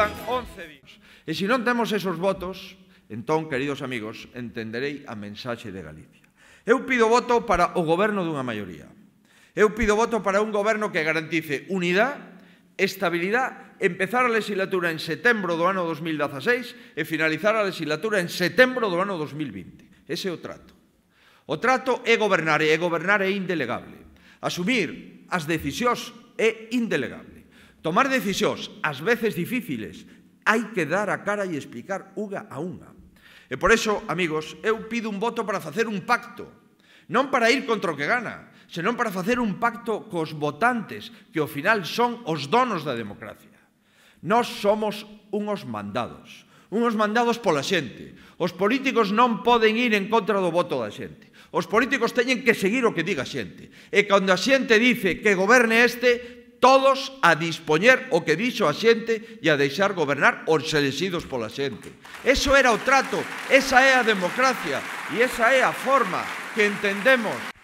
quedan 11 días. E se non temos esos votos, entón, queridos amigos, entenderei a mensaxe de Galicia. Eu pido voto para o goberno dunha maioría. Eu pido voto para un goberno que garantice unidade, estabilidade, empezar a legislatura en setembro do ano 2016 e finalizar a legislatura en setembro do ano 2020. Ese é o trato. O trato é gobernar, e gobernar é indelegable. Asumir as decisións é indelegable. Tomar decisións, ás veces difíciles, hai que dar a cara e explicar unha a unha. E por iso, amigos, eu pido un voto para facer un pacto, non para ir contra o que gana, senón para facer un pacto cos votantes, que ao final son os donos da democracia. Nós somos unhos mandados pola xente. Os políticos non poden ir en contra do voto da xente. Os políticos teñen que seguir o que diga a xente. E cando a xente dice que goberne este, todos a dispoñer o que dixo a xente e a deixar gobernar os elexidos pola xente. Eso era o trato, esa é a democracia e esa é a forma que entendemos